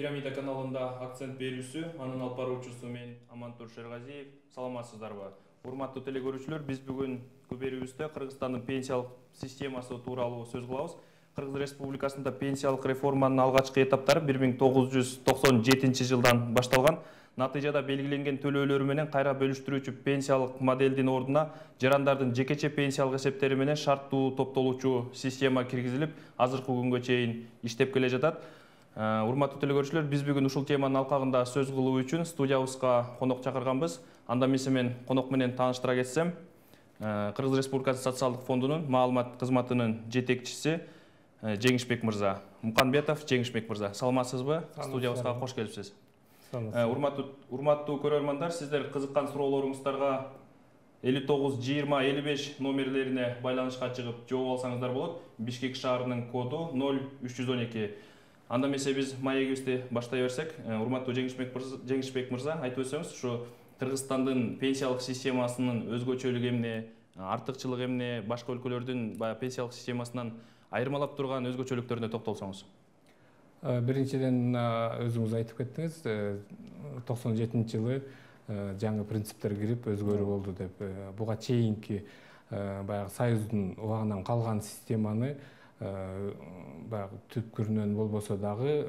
Пирамида каналында акцент берүүсү, анын алып баруучусу мен Амантур Шергазиев. Саламатсыздарбы? Урматтуу телекөрүүчүлөр, биз бүгүнкү берүүбүздө Кыргызстандын пенсиялык системасы тууралуу сөз кылабыз. Кыргыз Республикасында пенсиялык реформанын алгачкы этаптары 1997 жылдан башталган. Натыйжада белгиленген төлөөлөр менен кайра бөлүштүрүүчү пенсиялык модельдин ордуна жарандардын жекече пенсиялык эсептери менен шарттуу топтолуучу система киргизилип, азыркы күнгө чейин иштеп келе жатат. Урматтуу телекөрүүчүлөр, биз бүгүн ушул теманын алкагында сөз кылуу үчүн студиябызга конок чакырганбыз. Анда эмесе мен конок менен тааныштыра кетсем, Кыргыз Республикасы социалдык фондунун маалымат кызматынын жетекчиси Жеңишбек мырза. Муканбетов Жеңишбек мырза. Саламатсызбы? Студиябызга кош келипсиз. Урматтуу көрөрмандар, сиздер кызыккан суроолоруңуздарга 59 20 55 номерлерине байланышка чыгып жооп алсаңыздар болот. Бишкек шаарынын коду 0312. Анда эмесе биз маегибизди баштай берсек, урматтуу Жеңишбек мырза, айтып өтсөңүз, ушу Кыргызстандын пенсиялык системасынын өзгөчөлүгү эмне, артыкчылыгы эмне, башка өлкөлөрдүн пенсиялык системасынан айырмалап турган өзгөчөлүктөрүнө токтолсоңуз. Биринчиден өзүңүз айтып кеттиңиз, 97-жылы жаңы принциптер кирип өзгөрүү болду деп. Буга чейинки баягы Союздун убагынан калган системаны баягы түпкүрүнөн болбосо дагы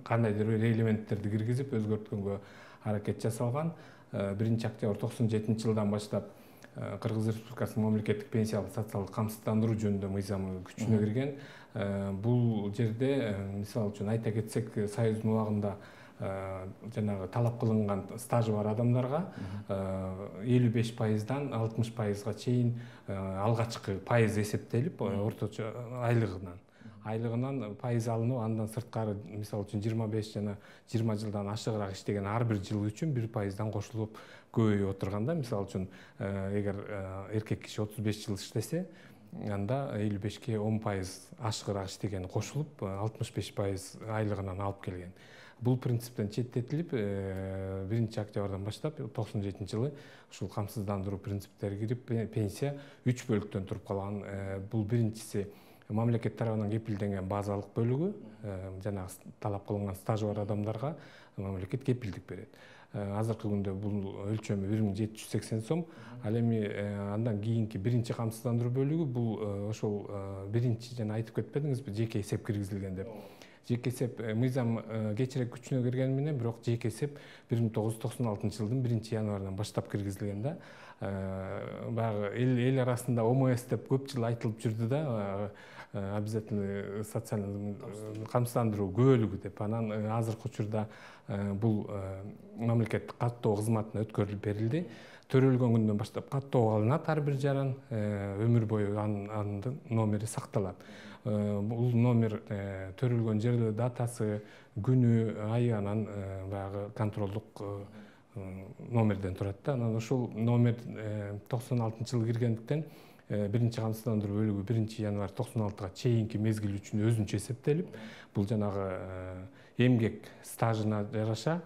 кандайдыр бир элементтерди киргизип өзгөрткөнгө аракет жасалган. 1-октябрь 97 жылдан баштап Кыргыз Республикасынын мамлекеттик пенсиялык социалдык камсыздандыруу жөнүндө мыйзамы күчүнө кирген. Бул жерде мисалы үчүн айта кетсек, Союздун убагында жанагы талап кылынган стажы бар адамдарга 55%дан 60%га чейин алгачкы пайыз эсептелип, орточо айлыгынан пайыз алынып, андан сырткары мисалы үчүн 25 жана 20 жылдан ашыгыраак иштеген ар бир жыл үчүн 1%дан кошулуп көбөйүп отурганда, мисалы үчүн эгер эркек киши 35 жыл иштесе, анда 55-ке 10% ашыгыраак иштеген кошулуп 65% айлыгынан алып келген. Бул принциптен четтетилип, 1-октябрдан баштап 97 жылы ушул камсыздандыруу принциптери кирип, пенсия 3 бөлүктөн туруп калган. Бул биринчиси мамлекет тарабынан кепилденген базалык бөлүгү, жанагы талап кылынган стажы бар адамдарга мамлекет кепилдик берет. Азыркы күндө бул өлчөмү 1780 сом. Ал эми андан кийинки биринчи камсыздандыруу бөлүгү бул ошол биринчи жана айтып кетпедиңизби, жеке эсеп киргизилген деп. Жеке эсеп мыйзам кечирээк күчүнө киргени менен, бирок жеке эсеп 1996 жылдын 1-январынан баштап киргизилген да. Баягы эл арасында ОМС деп көп жыл айтылып жүрдү да, обязательный социальный камсыздандыруу көбөлүгү деп. Анан азыркы учурда бул мамлекеттик каттоо кызматына өткөрүлүп берилди. Төрөлгөн күндөн баштап каттоого алынат ар бир жаран, өмүр бою анын номери сакталат. Бул номер төрөлгөн жери, датасы, күнү, айы анан баягы контролдук номерден турат да. Анан ошол номер 96-жылы киргендиктен биринчи камсыздандыруу бөлүгү 1-январь 96-га чейинки мезгил үчүн өзүнчө эсептелип, бул жанагы эмгек стажына жараша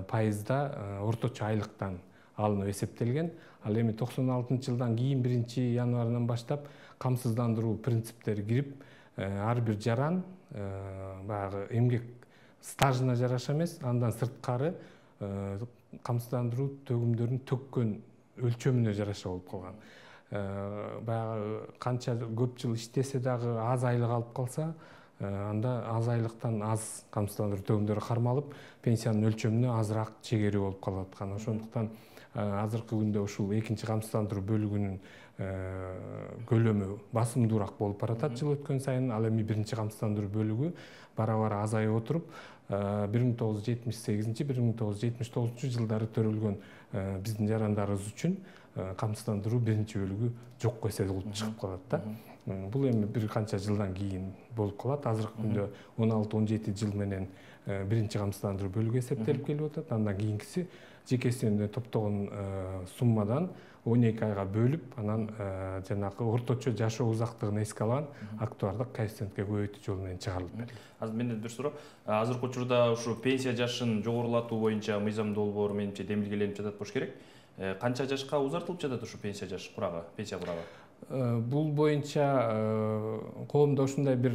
пайызда орточо айлыктан алынып эсептелген. Ал эми 96-жылдан кийин 1-январынан баштап камсыздандыруу принциптери кирип, ар бир жаран баягы эмгек стажына жараша эмес, андан сырткары камсыздандыруу төгүмдөрүн төккөн өлчөмүнө жараша болуп калган. Баягы канча көп жыл иштесе дагы аз айлык алып калса, анда аз айлыктан аз камсыздандыруу төгүмдөрү кармалып, пенсиянын өлчөмүнө азыраак чегерүү болуп калып аткан. Ошондуктан азыркы күндө ушул экинчи камсыздандыруу бөлүгүнүн көлөмү басымдуураак болуп баратат жыл өткөн сайын. Ал эми биринчи камсыздандыруу бөлүгү бара-бара азайып отуруп, 1978-1979 жылдары төрөлгөн биздин жарандарыбыз үчүн камсыздандыруу биринчи бөлүгү жокко эсебилип чыгып калат да. Бул эми бир канча жылдан кийин болуп калат. Азыркы күндө 16-17 жыл менен биринчи камсыздандыруу бөлүгү эсептелип келип атат. Андан кийинкиси жеке эсебинде топтогон суммадан 12 айга бөлүп, анан жанагы орточо жашоо узактыгын эске алган актуардык коэффициентке көбөйтүү жолу менен чыгарылып берилди. Азыр менден бир суроо. Азыркы учурда ушу пенсия жашын жогорулатуу боюнча мыйзам долбоору менимче демилгеленип жатат болуш керек. Канча жашка узартылып жатат ушу пенсия жаш курагы, пенсия курагы? Бул боюнча коомдо ушундай бир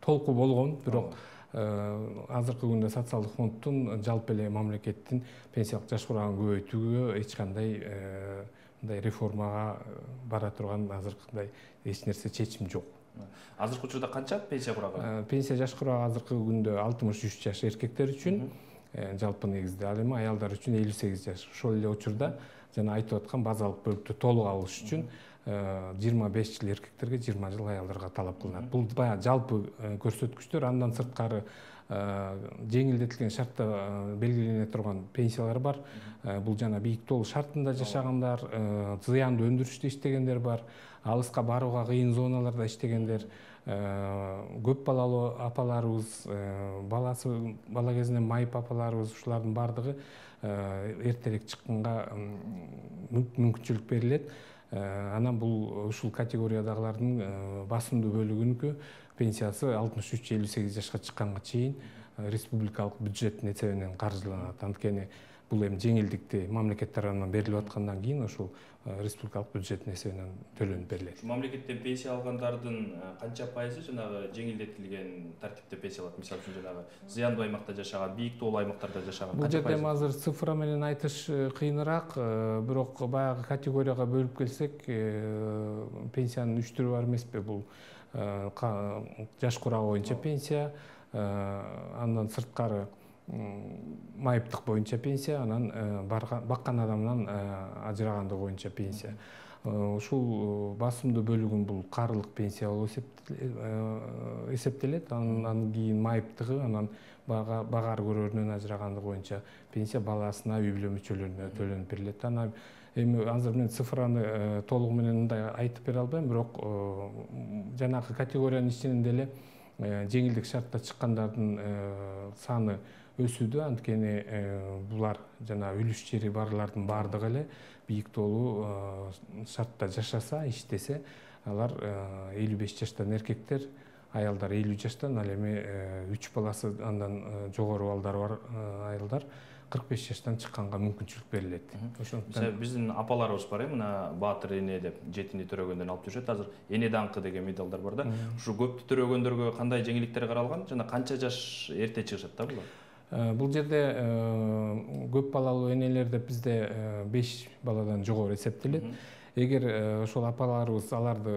толку болгон, бирок азыркы күндө социалдык фонддун жалпы эле мамлекеттин пенсиялык жаш курагын көбөйтүүгө эч кандай мындай реформага бара турган азыркыдай эч нерсе чечим жок. Азыркы учурда канча пенсия курагы? Пенсия жаш курагы азыркы күндө 63 жаш эркектер үчүн, жалпы негизде, ал эми аялдар үчүн 58 жаш. Ошол эле учурда жана айтып аткан базалык бөлүктү толук алыш үчүн 25 жыл эркектерге, 20 жыл аялдарга талап кылынат. Бул баягы жалпы көрсөткүчтөр. Андан сырткары жеңилдетилген шартта белгилене турган пенсиялар бар. Бул жана бийик тоолуу шартында жашагандар, зыяндуу өндүрүштө иштегендер бар, алыска барууга кыйын зоналарда иштегендер, көп балалуу апаларыбыз, бала кезинен майып апаларыбыз, ушулардын баардыгы эртерээк чыкканга мүмкүнчүлүк берилет. Анан бул ушул категориядагылардын басымдуу бөлүгүнүкү пенсиясы 63-58 жашка чыкканга чейин республикалык бюджеттин эсебинен каржыланат. Анткени бул эми жеңилдикти мамлекет тарабынан берилип аткандан кийин ошол республикалык бюджеттин эсебинен төлөнүп берилет. Мамлекеттен пенсия алгандардын канча пайызы жанагы жеңилдетилген тартипте пенсия алат? Мисалы үчүн жанагы зыяндуу аймакта жашаган, бийик тоолуу аймактарда жашаган Бул жерде азыр цифра менен айтыш кыйыныраак, бирок баягы категорияга бөлүп келсек, пенсиянын 3 түрү бар эмеспи? Бул жаш курагы боюнча пенсия, андан сырткары майыптык боюнча пенсия, анан баккан адамдан ажырагандыгы боюнча пенсия. Ушул басымдуу бөлүгүн бул карылык пенсия болуп эсептелет. Андан кийин майыптыгы, анан багаар көрөрүнөн ажырагандыгы боюнча пенсия, баласына, үй бүлө мүчөлөрүнө төлөнүп берилет. Анан эми азыр мен цифраны толугу менен мындай айтып бере албайм, бирок жанагы категориянын ичинен деле жеңилдик шартта чыккандардын саны өсүүдө. Анткени булар жана үлүш жери барлардын баардыгы эле бийик тоолуу шартта жашаса, иштесе, алар 55 жаштан эркектер, аялдар 50 жаштан, ал эми 3 баласы андан жогору балдары бар аялдар 45 жаштан чыкканга мүмкүнчүлүк берилет. Ошондуктан биздин апаларыбыз бар, мына Баатыр эне деп жетини төрөгөндөн алып жүрүшөт. Азыр эне даңкы деген медалдар бар да. Ушу көптү төрөгөндөргө кандай жеңилдиктер каралган жана канча жаш эрте чыгышат да булар? Бул жерде көп балалуу энелер деп бизде 5 баладан жогору эсептелет. Эгер ошол апаларыбыз аларды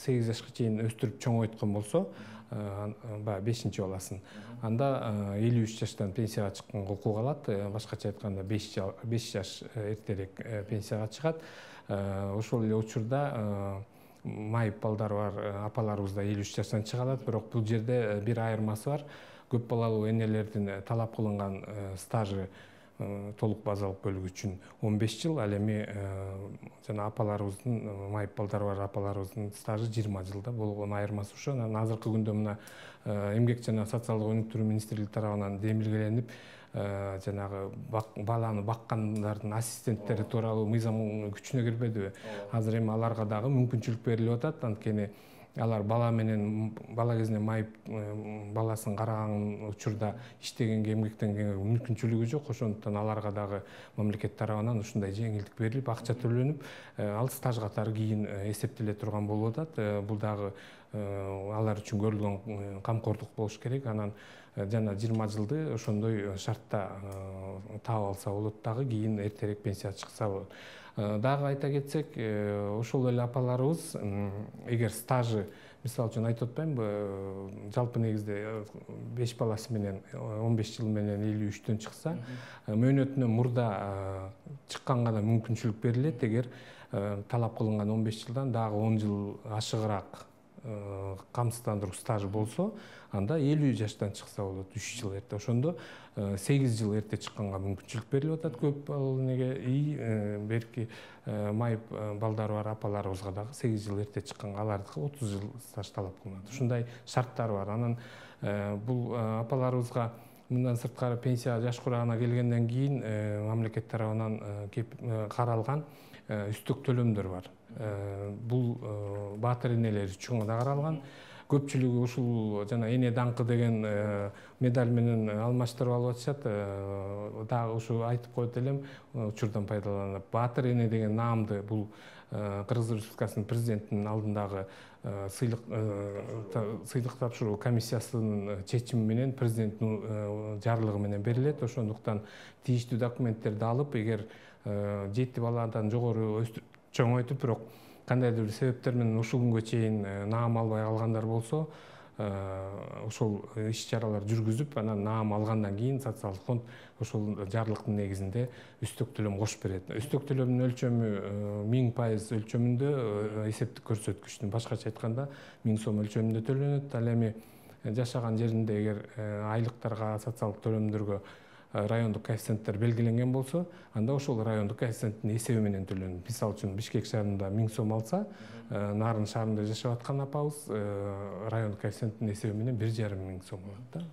8 жашка чейин өстүрүп чоңойткон болсо, баягы 5-баласын, анда 53 жаштан пенсияга чыкканга укук алат. Башкача айтканда 5 жаш эртерээк пенсияга чыгат. Ошол эле учурда майып балдары бар апаларыбыз да 53 жаштан чыга алат. Бирок бул жерде бир айырмасы бар. Көп балалуу энелердин талап кылынган стажы толук базалык бөлүгү үчүн 15 жыл, ал эми жана апаларыбыздын, майып балдары бар апаларыбыздын стажы 20 жылда болгон айырмасы ошо. Анан азыркы күндө мына эмгек жана социалдык өнүктүрүү министрлиги тарабынан демилгеленип, жанагы баланы баккандардын ассистенттери тууралуу мыйзам күчүнө кирбедиби? Азыр эми аларга дагы мүмкүнчүлүк берилип атат. Анткени алар бала кезинен майып баласын караган учурда иштегенге, эмгектенгенге мүмкүнчүлүгү жок. Ошондуктан аларга дагы мамлекет тарабынан ушундай жеңилдик берилип, акча төлөнүп, ал стаж катары кийин эсептеле турган болуп атат. Бул дагы алар үчүн көрүлгөн камкордук болуш керек. Анан жана 20 жылды ошондой шартта таап алса болот, дагы кийин эртерээк пенсияга чыкса болот. Дагы айта кетсек, ошол эле апаларыбыз эгер стажы, мисалы үчүн айтып атпаймынбы, жалпы негизде 5 баласы менен 15 жыл менен 53-төн чыкса, мөөнөтүнөн мурда чыкканга да мүмкүнчүлүк берилет. Эгер талап кылынган 15 жылдан дагы 10 жыл ашыгыраак камсыздандыруу стажы болсо, анда 50 жаштан чыкса болот, 3 жыл эрте. Ошондо 8 жыл эрте чыкканга мүмкүнчүлүк берилип атат көп балалуу энеге. Берки майып балдары бар апаларыбызга дагы 8 жыл эрте чыкканга алардыкы 30 жыл стаж талап кылынат. Ушундай шарттар бар. Анан бул апаларыбызга мындан сырткары пенсия жаш курагына келгенден кийин мамлекет тарабынан каралган үстүк төлөмдөр бар. Бул Баатыр энелер үчүн да каралган. көпчүлүгү ушул жана эне даңкы деген медаль менен алмаштырып алып атышат. Дагы ушу айтып коет элем, учурдан пайдаланып, Баатыр эне деген наамды бул Кыргыз Республикасынын президентинин алдындагы сыйлык тапшыруу комиссиясынын чечими менен президенттин жарлыгы менен берилет. Ошондуктан тийиштүү документтерди алып, эгер 7 баладан жогору чоңойтуп, бирок кандайдыр бир себептер менен ушул күнгө чейин наам албай калгандар болсо, ошол иш-чаралар жүргүзүп, анан наам алгандан кийин социалдык фонд ошол жарлыктын негизинде үстөк төлөм кошуп берет. Үстөк төлөмдүн өлчөмү 1000% өлчөмүндө эсептик көрсөткүчтүн, башкача айтканда 1000 сом өлчөмүндө төлөнөт. Ал эми жашаган жеринде эгер айлыктарга, социалдык төлөмдөргө райондук коэффициенттер белгиленген болсо, анда ошол райондук коэффициенттин эсеби менен төлөнөт. Мисалы үчүн Бишкек шаарында 1000 сом алса, Нарын шаарында жашап аткан апабыз райондук коэффициенттин эсеби менен 1,5 сом алат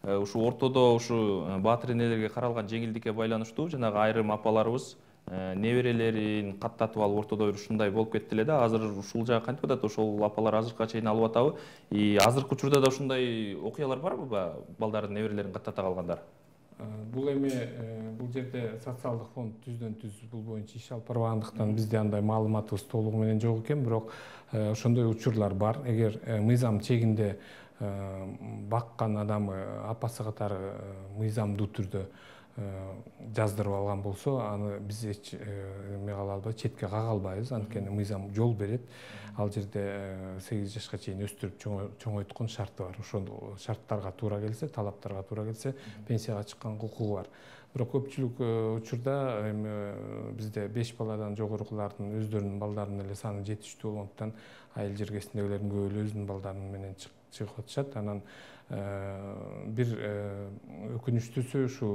да. Ушу ортодо ушу Баатыр энелерге каралган жеңилдикке байланыштуу жанагы айрым апаларыбыз неберелерин каттатып алып ортодо бир ушундай болуп кетти эле да. Азыр ушул жагы кантип атат? Ошол апалар азыркыга чейин алып атабы? Азыркы учурда да ушундай окуялар барбы? Балдардын неберелерин каттата калгандар. Бул эми бул жерде социалдык фонд түздөн-түз бул боюнча иш алып барбагандыктан бизде андай маалыматыбыз толугу менен жок экен, бирок ошондой учурлар бар. Эгер мыйзам чегинде баккан адамы апасы катары мыйзамдуу түрдө жаздырып алган болсо, аны биз эч эме кыла албайбыз, четке кага албайбыз. Анткени мыйзам жол берет. Ал жерде 8 жашка чейин өстүрүп чоңойткон шарты бар. Ошол шарттарга туура келсе, талаптарга туура келсе, пенсияга чыкканга укугу бар. Бирок көпчүлүк учурда эми бизде 5 баладан жогорукулардын өздөрүнүн балдарынын эле саны жетиштүү болгондуктан айыл жергесиндегилердин көбү эле өзүнүн балдарынын менен чыгып атышат. Анан бир өкүнүчтүүсү ушу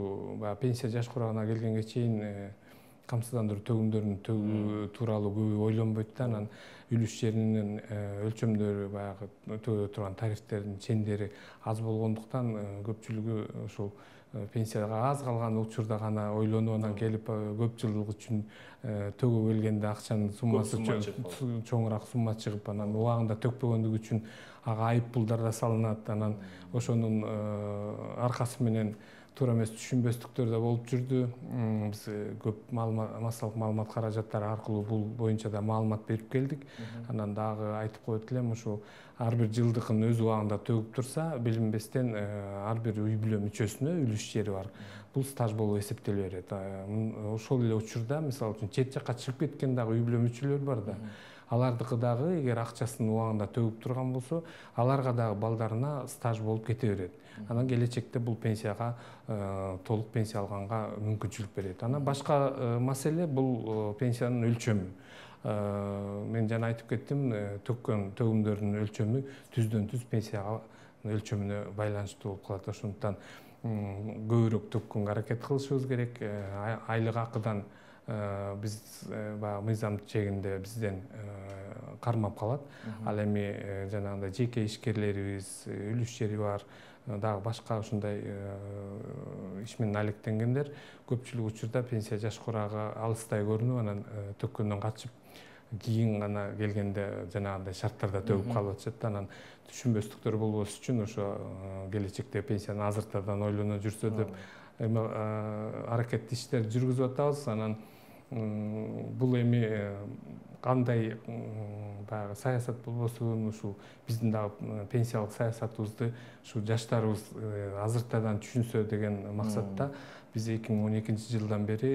пенсия жаш курагына келгенге чейин камсыздандыруу төгүмдөрүнүн төгүү тууралуу көбү ойлонбойт да. Анан үлүш жеринин өлчөмдөрү, баягы төлөп турган тарифтердин чендери аз болгондуктан көпчүлүгү ушул пенсияга аз калган учурда гана ойлонуп, анан келип көп жылдык үчүн төгүп келгенде акчанын суммасы чоңураак сумма чыгып, анан убагында төкпөгөндүгү үчүн ага айып пулдар да салынат. Анан ошонун аркасы менен туура эмес түшүнбөстүктөр да болуп жүрдү. Биз көп массалык маалымат каражаттары аркылуу бул боюнча да маалымат берип келдик. Анан дагы айтып коет элем, ушу ар бир жылдыкын өз убагында төгүп турса, билинбестен ар бир үй бүлө мүчөсүнө үлүш жери бар. Бул стаж болуп эсептеле берет. Ошол эле учурда, мисалы үчүн, чет жакка чыгып кеткен дагы үй бүлө мүчөлөр бар да. Алардыкы дагы эгер акчасын убагында төгүп турган болсо, аларга дагы балдарына стаж болуп кете берет. Анан келечекте бул пенсияга толук пенсия алганга мүмкүнчүлүк берет. Анан башка маселе бул пенсиянын өлчөмү. Мен жана айтып кеттим, төккөн төгүмдөрдүн өлчөмү түздөн-түз пенсияга өлчөмүнө байланыштуу болуп калат. Ошондуктан көбүрөөк төккөнгө аракет кылышыбыз керек. Айлык акыдан биз баягы мыйзам чегинде бизден кармап калат. Ал эми жанагындай жеке ишкерлерибиз, үлүш жери бар, дагы башка ушундай иш менен алектенгендер көпчүлүк учурда пенсия жаш курагы алыстай көрүнүп, анан төккөндөн качып, кийин гана келгенде жанагындай шарттарда төгүп калып атышат. Анан түшүнбөстүктөр болбош үчүн ошо келечекте пенсияны азыртадан ойлоно жүрсө деп аракеттүү иштерди жүргүзүп атабыз. Анан бул эми кандай баягы саясат болбосун, ушул биздин дагы пенсиялык саясатыбызды ушу жаштарыбыз азыртадан түшүнсө деген максатта биз 2012 жылдан бери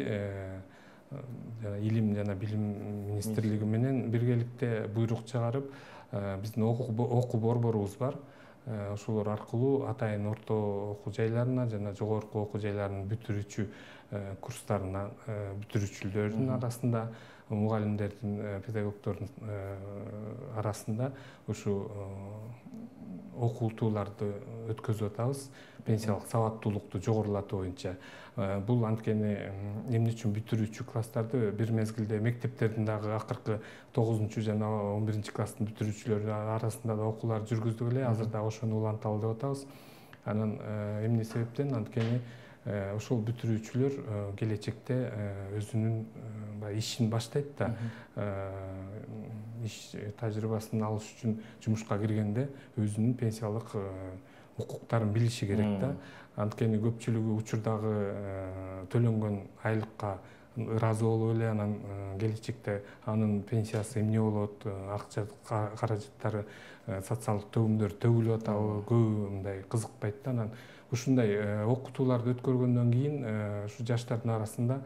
илим жана билим министрлиги менен биргеликте буйрук чыгарып, биздин окуу борборубуз бар. Ошолор аркылуу атайын орто окуу жайларына жана жогорку окуу жайларынын бүтүрүүчү курстарына бүтүрүүчүлөрдүн арасында, мугалимдердин, педагогдордун арасында ушу окутууларды өткөзүп атабыз, пенсиялык сабаттуулукту жогорулатуу боюнча. Бул анткени эмне үчүн бүтүрүүчү класстарды бир мезгилде мектептердин дагы акыркы 9 жана 11 класстын бүтүрүүчүлөрү арасында да окуулар жүргүздүк эле. Азыр дагы ошону уланталы деп атабыз. Анан эмне себептен? Анткени ошол бүтүрүүчүлөр келечекте өзүнүн ишин баштайт да, иш тажрыйбасын алыш үчүн жумушка киргенде өзүнүн пенсиялык укуктарын билиши керек да. Анткени көпчүлүгү учурдагы төлөнгөн айлыкка ыраазы болуп эле, анан келечекте анын пенсиясы эмне болот, акча каражаттары, социалдык төмдөр төгүлүп атабы, көбү мындай кызыкпайт да. Анан ушундай окутууларды өткөргөндөн кийин ушу жаштардын арасында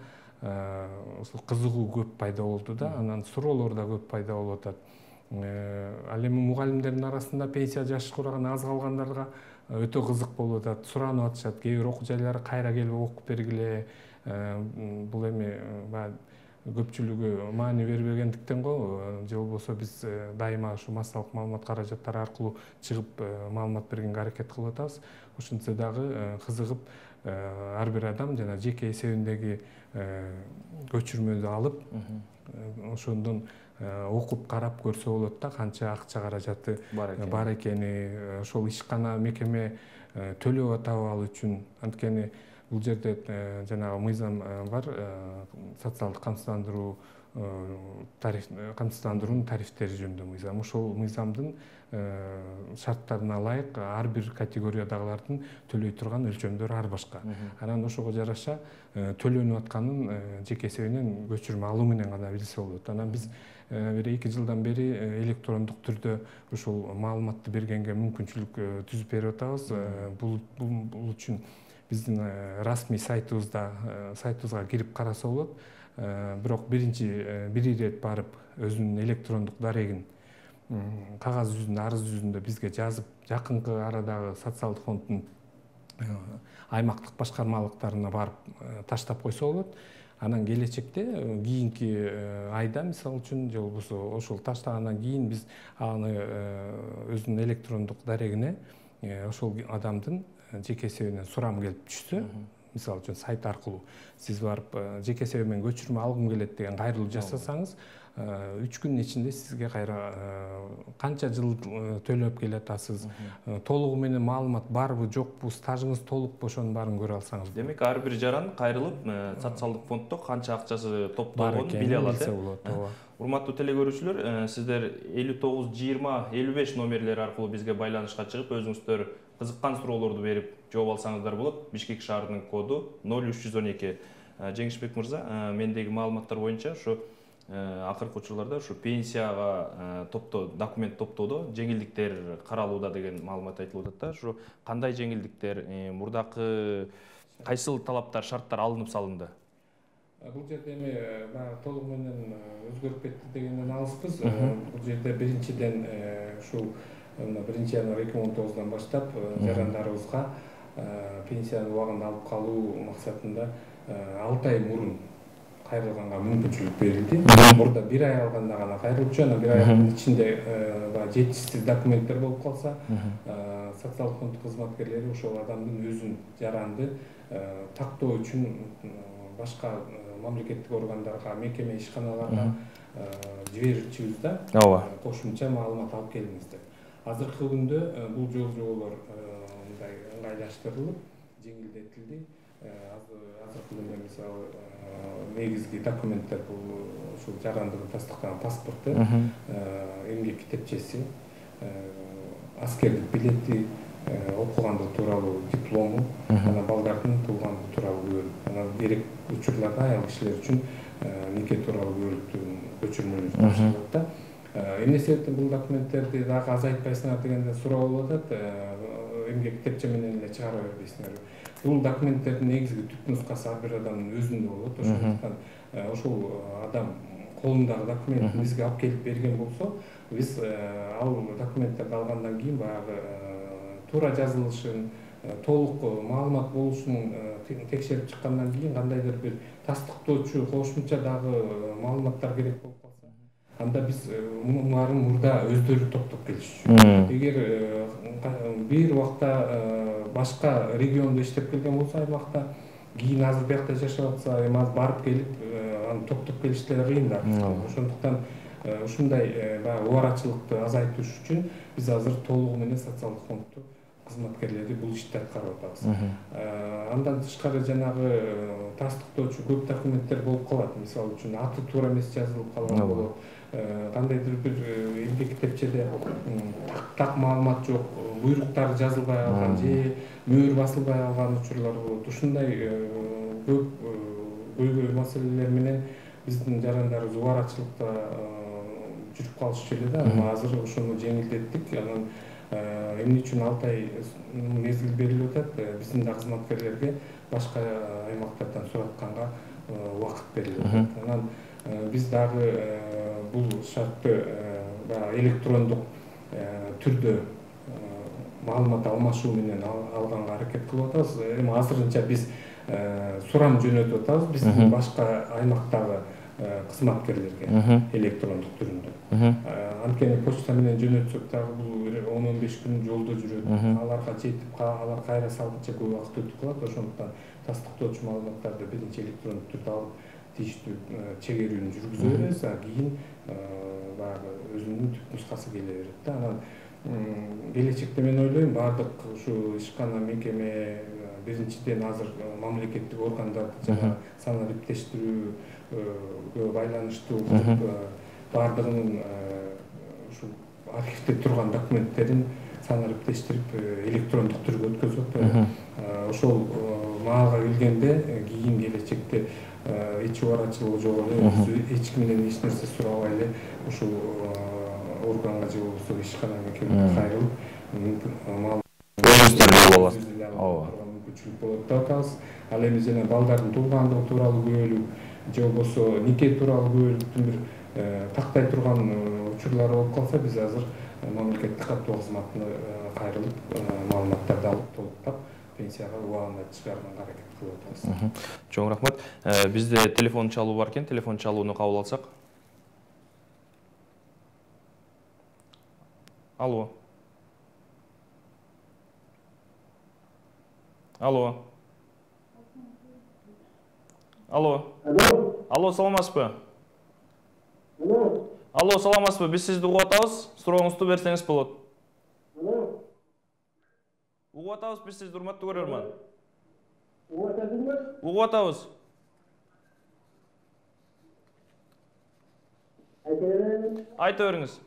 кызыгуу көп пайда болду да, анан суроолор да көп пайда болуп атат. Ал эми мугалимдердин арасында пенсия жашы кураган аз калгандарга өтө кызык болуп атат, суранып атышат. Кээ бир окуу жайлары кайра келип окуп бергиле. Бул эми көпчүлүгү маани бербегендиктен го, же болбосо биз дайыма ушу массалык маалымат каражаттары аркылуу чыгып маалымат бергенге аракет кылып атабыз. Ошентсе дагы кызыгып ар бир адам жана жеке эсебиндеги көчүрмөдү алып, ошондон окуп карап көрсө болот да, канча акча каражаты бар экени, ошол ишкана мекеме төлөп атабы ал үчүн. Анткени бул жерде жанагы мыйзам бар, социалдык камсыздандыруунун тарифтери жөнүндө мыйзам. Ошол мыйзамдын шарттарына ылайык ар бир категориядагылардын төлөй турган өлчөмдөрү ар башка. Анан ошого жараша төлөнүп атканын жеке эсебинен көчүрмө алуу менен гана билсе болот. Анан биз бир 2 жылдан бери электрондук түрдө ушул маалыматты бергенге мүмкүнчүлүк түзүп берип атабыз. Бул үчүн биздин расмий сайтыбызга кирип караса болот. Бирок бир ирет барып өзүнүн электрондук дарегин кагаз жүзүндө, арыз жүзүндө бизге жазып, жакынкы арадагы социалдык фонддун аймактык башкармалыктарына барып таштап койсо болот. Анан келечекте кийинки айда, мисалы үчүн, же болбосо ошол таштагандан кийин биз аны өзүнүн электрондук дарегине ошол адамдын жеке эсебинен сурам келип түшсө, мисалы үчүн сайт аркылуу сиз барып жеке эсебимен көчүрмө алгым келет деген кайрылуу жасасаңыз, 3 күнүн ичинде сизге кайра канча жыл төлөп келатасыз, толугу менен маалымат барбы жокпу, стажыңыз толукпу, ошонун баарын көрө алсаңыз. Демек ар бир жаран кайрылып социалдык фонддо канча акчасы топтолгонун биле алат. Урматтуу телекөрүүчүлөр, сиздер 59 20 55 номерлери аркылуу бизге байланышка чыгып, өзүңүздөр кызыккан суроолорду берип жооп алсаңыздар болот. Бишкек шаарынын коду 0312. Жеңишбек мырза, мендеги маалыматтар боюнча ушу акыркы учурларда ушу пенсияга документ топтоодо жеңилдиктер каралууда деген маалымат айтылып атат да. Ушу кандай жеңилдиктер, мурдакы кайсыл талаптар, шарттар алынып салынды? Бул жерде эми толугу менен өзгөрүп кетти дегенден алыспыз. Бул жерде биринчиден ушул 1 январь 2019 баштап жарандарыбызга пенсияны убагында алып калуу максатында 6 ай мурун кайрылганга мүмкүнчүлүк берилди. Мурда 1 ай алганда гана кайрылчу, анан 1 айдын ичинде жетишсиз документтер болуп калса, социалдык фонд кызматкерлери ошол адамдын өзүн, жаранды тактоо үчүн башка мамлекеттик органдарга, мекеме, ишканаларга жиберчүбүз да. Кошумча маалымат алып келиңиз деп. Азыркы күндө бул жол-жоболор мындай ыңгайлаштырылып, жеңилдетилди. Азыркы күндө мисалы негизги документтер бул ушул жарандыгы тастыктаган паспорту, эмгек китепчеси, аскердик билети, окугандыгы тууралуу диплому, анан балдардын туулгандыгы тууралуу күбөлүк. Анан керек учурларда аял кишилер үчүн нике тууралуу күбөлүктүн көчүрмөлөрү тапшырылат да. Эмне себептен бул документтерди дагы азайтпайсыңар дегенде суроо болуп атат. Эмгек китепче менен эле чыгара бербейсиңерби? Бул документтердин негизги түп нускасы ар бир адамдын өзүндө болот. Ошондуктан ошол адам колундагы документин бизге алып келип берген болсо, биз ал документтерди алгандан кийин баягы туура жазылышын, толук маалымат болушун текшерип чыккандан кийин кандайдыр бир тастыктоочу кошумча дагы маалыматтар керек болуп калса, анда биз баарын мурда өздөрү топтоп келишчү. Эгер бир убакта башка региондо иштеп келген болсо, аймакта, кийин азыр биякта жашап атса, эми азыр барып келип аны топтоп келиш деле кыйын да. Ошондуктан ушундай убарачылыкты азайтыш үчүн биз азыр толугу менен социалдык фондду кызматкерлери бул ишти аткарып атабыз. Андан тышкары жанагы тастыктоочу көп документтер болуп калат. Мисалы үчүн аты туура эмес жазылып калган болот. Кандайдыр бир эмгек китепчеде так маалымат жок, буйруктар жазылбай калган же мөөр басылбай калган учурлар болот. Ушундай көп көйгөй маселелер менен биздин жарандарыбыз убарачылыкта жүрүп калышчу эле да. Азыр ошону жеңилдеттик. Анан эмне үчүн 6 ай мезгил берилип атат? Биздин да кызматкерлерге башка аймактардан суратканга убакыт берилип атат. Анан биз дагы бул шартты электрондук түрдө маалымат алмашуу менен алганга аракет кылып атабыз. Эми азырынча биз сурам жөнөтүп атабыз биздин башка аймактагы кызматкерлерге электрондук түрүндө. Анткени почта менен жөнөтсөк дагы бул 10-15 күн жолдо жүрөт. Аларга жетип алар кайра салгыча көп убакыт өтүп калат. Ошондуктан тастыктоочу маалыматтарды биринчи электрондук түрдө алып тийиштүү чегерүүнү жүргүзө беребиз. Кийин баягы өзүнүн түп нускасы келе берет да. Анан келечекте мен ойлойм баардык ушу ишкана мекеме биринчиден азыр мамлекеттик органдарды жана санариптештирүүгө байланыштуу баардыгынын ушу архивде турган документтерин санариптештирип электрондук түргө өткөзүп атат. Ошол маалга келгенде кийин келечекте эч убарачылыгы жок эле, эч кимден эч нерсе сурабай эле ушул органга же болбосо ишкана мекемеге кайрылып мүмкүнчүлүк болот деп атабыз. Ал эми жана балдардын туулгандыгы тууралуу күбөлүк же болбосо нике тууралуу күбөлүктүн бир тактай турган учурлары болуп калса, биз азыр мамлекеттик каттоо кызматына кайрылып маалыматтарды алып толуктап пенсияга убагында чыгарганга аракет кылып атабыз. Чоң рахмат. Бизде телефон чалуу бар экен, телефон чалууну кабыл алсак. Алло. Алло. Алло. Алло, саламатсызбы? Алло, саламатсызбы? Биз сизди угуп атабыз. Сурооңузду берсеңиз болот. Угуп атабыз биз сизди, урматтуу көрөрман. Угуп атабыз. Айта бериңиз.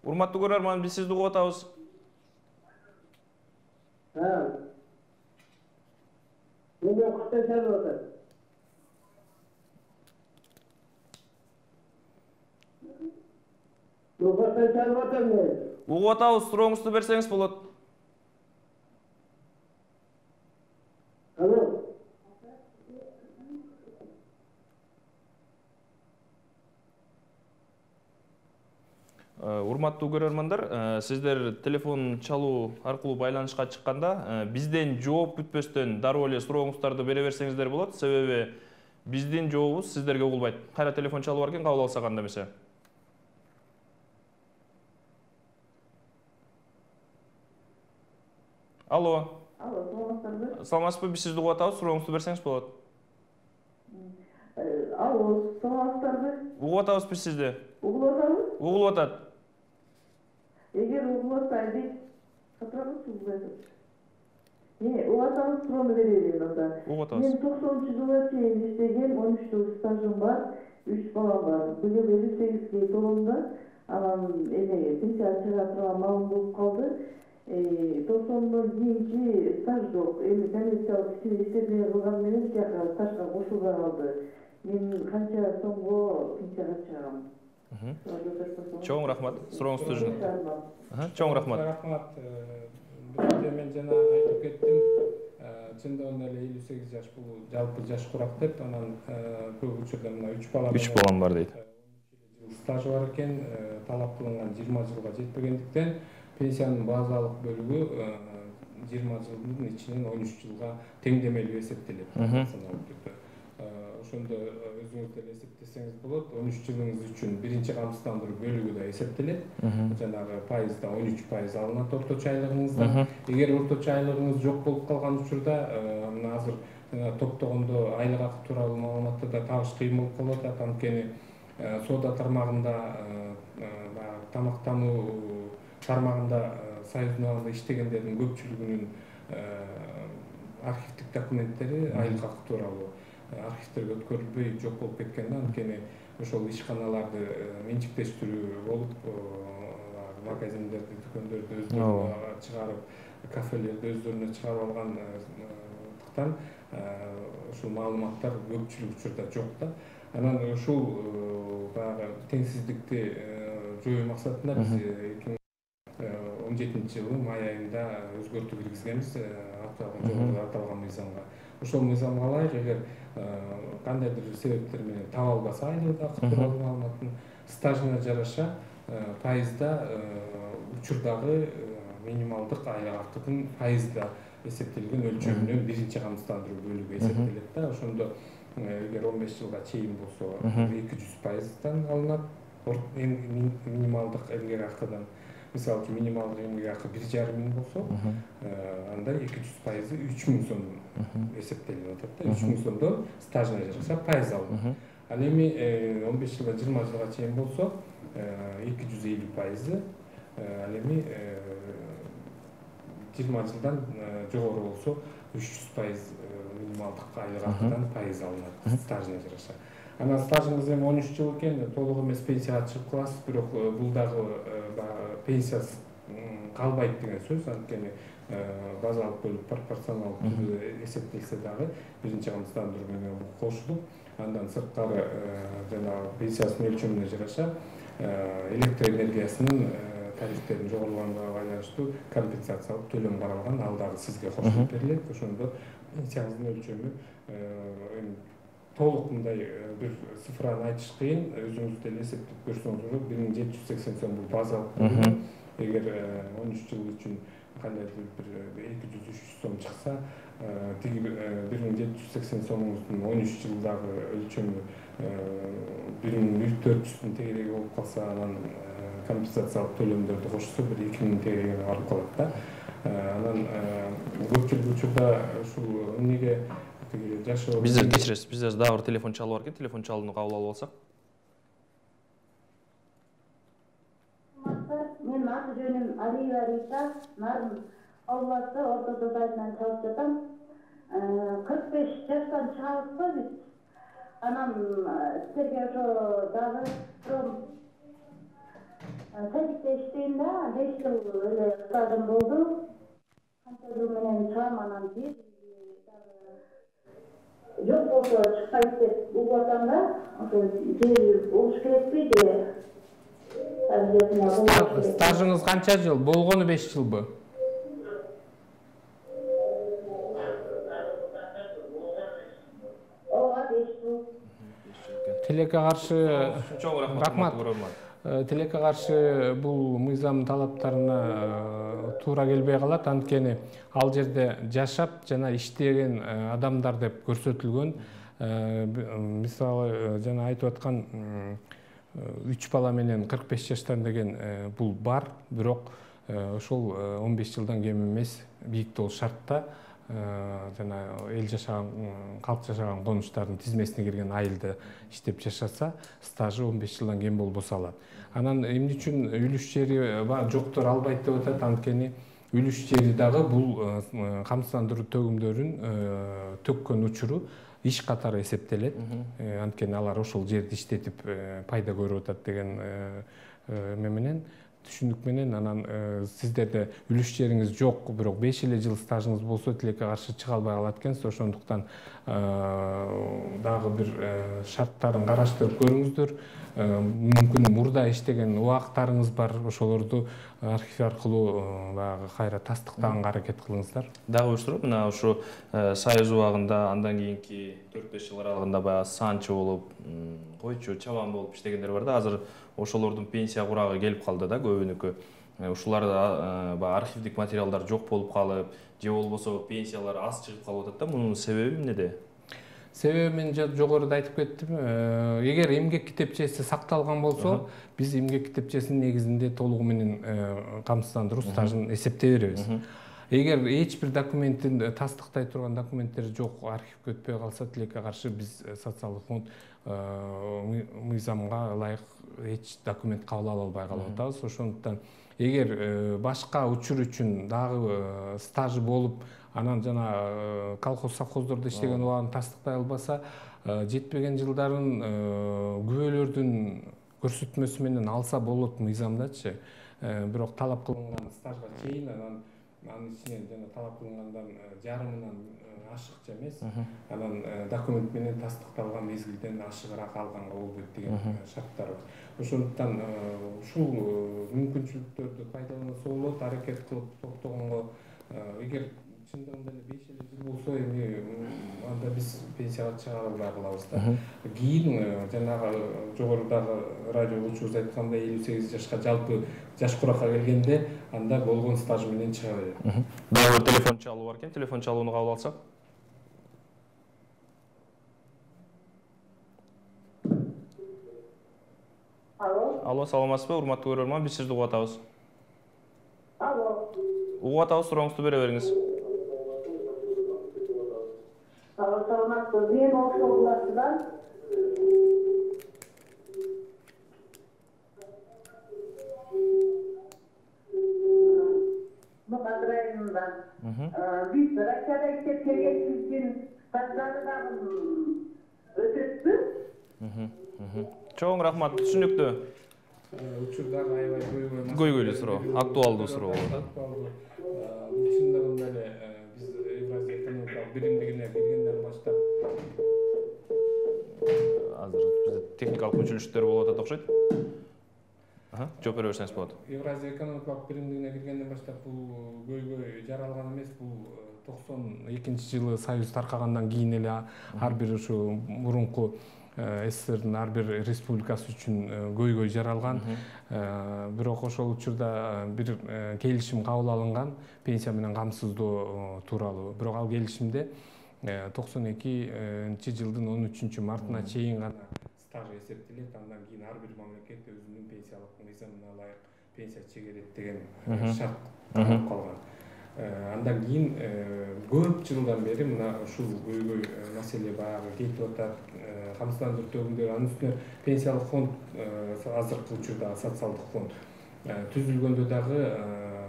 Урматтуу көрөрман, биз сизди угуп атабыз. Угуп атабыз, сурооңузду берсеңиз болот. Урматтуу көрөрмандар, сиздер телефон чалуу аркылуу байланышка чыкканда бизден жооп күтпөстөн дароо эле сурооңуздарды бере берсеңиздер болот. Себеби биздин жообубуз сиздерге угулбайт. Кайра телефон чалуу бар экен, кабыл алсак анда эмесе. Алло. Алло, саламатсызбы? Саламатсызбы, биз сизди угуп атабыз, сурооңузду берсеңиз болот. Алло, саламатсызбы? Угуп атабыз биз сизди. Угулуп атабыз? Угулуп атат. Эгер угулуп атсайды, катырабызбы? Угуп атабыз, суроону берейин анда. Угуп атабыз. Мен 90-жылга чейин иштеген, 13 жыл стажым бар, 3 балам бар. Быйыл 58 толумда, анан пенсияга чыга турган маалым болуп калды. 90-дон кийинки стаж жок. Эми коммерциялык иштебей кылган менен тияка стажга кошулбай калды. Мен канча сомго пенсияга чыгам? Чоң рахмат. Сурооңузду жөнөт. Чоң рахмат. Рахмат. Биринчи мен жана айтып кеттим. Чындыгында эле 58 жаш бул жалпы жаш курак деп, анан көп учурда мына 3 балам бар дейт. Стажы бар экен, талап кылынган 20 жылга жетпегендиктен пенсиянын базалык бөлүгү 20 жылдын ичинен 13 жылга теңдемелүү эсептелет. Ошондо өзүңүз деле эсептесеңиз болот. 13 жылыңыз үчүн биринчи камсыздандыруу бөлүгү да эсептелет. Жанагы пайызда 13% алынат орточо айлыгыңыздан. Эгер орточо айлыгыңыз жок болуп калган учурда, мына азыр топтогондо айлык акы тууралуу маалыматтарды табыш кыйын болуп калып атат. Анткени соода тармагында баягы тамактануу тармагында союздун абагында иштегендердин көпчүлүгүнүн архивдик документтери айлык акы тууралуу архивтерге өткөрүлбөй жок болуп кеткен да. Анткени ошол ишканаларды менчиктештирүү болуп магазиндерди, дүкөндөрдү өздөрүнө чыгарып, кафелерди өздөрүнө чыгарып алгандыктан ушул маалыматтар көпчүлүк учурда жок да. Анан ушул баягы теңсиздикти жоюу максатында биз 2017-жылы май айында өзгөртүү киргизгенбиз жогоруда аталган мыйзамга. Ошол мыйзамга ылайык, эгер кандайдыр себептер менен таба албаса айлык акы тууралуу маалыматын, стажына жараша пайызда учурдагы минималдык айлык акынын пайызда эсептелген өлчөмүнөн биринчи камсыздандыруу бөлүгү эсептелет да. Ошондо эгер 15 жылга чейин болсо 200%дан алынат минималдык эмгек акыдан. Мисалы үчүн минималдык эмгек акы 1,5 миң болсо, анда 200%, 3000 сомдон эсептелип атат да. 3000 сомдон стажына жараша пайыз алынат. Ал эми 15 жылга 20 жылга чейин болсо 250%, ал эми 20 жылдан жогору болсо 300% минималдык айлык акыдан пайыз алынат стажына жараша. Анан стажыңыз эми 13 жыл экен, толук эмес пенсияга чыгып каласыз, бирок бул дагы пенсиясыз калбайт деген сөз. Анткени базалык бөлүп пропорционалдуу түрдө эсептелсе дагы биринчи камсыздандыруу менен кошулуп, андан сырткары жанагы пенсиясынын өлчөмүнө жараша электр энергиясынын тарифтерин жогорулганга байланыштуу компенсациялык төлөм каралган, ал дагы сизге кошулуп берилет. Ошондо пенсияңыздын өлчөмү эми толук мындай бир цифраны айтыш кыйын, өзүңүз деле эсептеп көрсөңүз болот. 1780 сом бул базалык төлөм. Эгер 13 жыл үчүн кандайдыр бир 200-300 сом чыкса, тиги 1780 сомуңуздун 13 жылдагы өлчөмү 1400 тегереги болуп калса, анан компенсациялык төлөмдөрдү кошсо бир 2000 тегереге барып калат да. Анан көпчүлүк учурда ушул эмнеге жашоо биздер кечиресиз, бизде дагы бир телефон чалып бар экен, телефон чалууну кабыл алып алсак. Мен аты жөнүм Алиева Рита, Нарын областы Орто Додайынан чалып жатам. 45 жаштан чыгабызбы биз. Анан силерге ошо дагы садикте иштейм да, 5 жыл эле стажым болду. Канча жыл менен чыгам, анан бир жок болсо чыкпайт деп угуп атам да. Ошо жер болуш керекпи же? Стажыңыз канча жыл? Болгону 5 жылбы? Ооба, 5 жыл. Тилекке каршы Чоң рахмат көрөрмөн. Тилекке каршы бул мыйзам талаптарына туура келбей калат, анткени ал жерде жашап жана иштеген адамдар деп көрсөтүлгөн. Мисалы жана айтып аткан 3 бала менен 45 жаштан деген бул бар, бирок ошол 15 жылдан кем эмес бийиктөө шартта жана эл жашаган, калк жашаган конуштардын тизмесине кирген айылда иштеп жашаса, стажы 15 жылдан кем болбосо алат. Анан эмне үчүн үлүш жери жоктор албайт деп атат, анткени үлүш жери дагы бул камсыздандыруу төгүмдөрүн төккөн учуру иш катары эсептелет. Анткени алар ошол жерди иштетип пайда көрүп атат деген эме менен, түшүнүк менен. Анан сиздерде үлүш жериңиз жок, бирок 5 эле жыл стажыңыз болсо тилекке каршы чыга албай калат экенсиз. Ошондуктан дагы бир шарттарын караштырып көрүңүздөр. Мүмкүн мурда иштеген убактарыңыз бар, ошолорду архив аркылуу баягы кайра тастыктаганга аракет кылыңыздар. Дагы уюштуруп, мына ушу Союз убагында, андан кийинки 4-5 жыл аралыгында баягы санчы болуп, койчу, чабан болуп иштегендер бар да. Азыр ошолордун пенсия курагы келип калды да, көбүнүкү. Ушуларда баягы архивдик материалдар жок болуп калып, же болбосо пенсиялар аз чыгып калып атат да. Мунун себеби эмнеде? Себеби мен жогоруда айтып кеттим. Эгер эмгек китепчеси сакталган болсо, биз эмгек китепчесинин негизинде толугу менен камсыздандыруу стажын эсептей беребиз. эгер эч бир документин тастыктай турган документтер жок, архивге өтпөй калса, тилекке каршы биз социалдык фонд мыйзамга ылайык эч документ кабыл ала албай калып атабыз. Ошондуктан эгер башка учур үчүн дагы стажы болуп, анан жана колхоз совхоздордо иштеген убагын тастыктай албаса, жетпеген жылдарын күбөлөрдүн көрсөтмөсү менен алса болот мыйзамдачы. Бирок талап кылынган стажга чейин анын ичинен жана талап кылынгандан жарымынан ашыкча эмес, анан документ менен тастыкталган мезгилден ашыгыраак алганга болбойт деген шарттар бар. Ошондуктан ушул мүмкүнчүлүктөрдү пайдаланса болот, аракет кылып токтогонго. Эгер чындыгында эле 5 жыл болсо, эми анда биз пенсияга чыгара албай калабыз да. Кийин жанагы жогорудагы радио учурубуз айткандай 58 жашка жалпы жаш куракка келгенде анда болгон стаж менен чыга берет. Дагы телефон чалуу бар экен, телефон чалууну кабыл алсак. Алло, саламатсызбы, урматтуу көрөрман, биз сизди угуп атабыз. Алло. Угуп атабыз, сурооңузду бере бериңиз. Саламатсыз, мен Ошогуласыдан. Мукадыр районундан. Биз Россияда иштеп келген үчүн стаждарды дагы өтөтпү? Чоң рахмат, түшүнүктүү. Учурдагы аябай Көйгөйлүү суроо, актуалдуу суроо болот. Бул чындыгында эле биз Евразия экономикалык биримдигине киргенден баштап азыр бизде техникалык мүчөлүштөр болуп атат окшойт. Жооп бере берсеңиз болот. Евразия экономикалык биримдигине киргенден баштап бул көйгөй жаралган эмес. Бул 92-жылы Союз таркагандан кийин эле ар бир ушу мурунку СССРдин ар бир республикасы үчүн көйгөй жаралган. Бирок ошол учурда бир келишим кабыл алынган пенсия менен камсыздоо тууралуу. Бирок ал келишимде 92-жылдын 13 мартына чейин гана стаж эсептелет. Андан кийин ар бир мамлекет өзүнүн пенсиялык мыйзамына ылайык пенсия чегерет деген шарт калып калган. Андан кийин көп жылдан бери мына ушул көйгөй маселе баягы кетип атат. Камсыздандыруу төгүмдөр, анын үстүнө пенсиялык фонд, азыркы учурда социалдык фонд түзүлгөндө дагы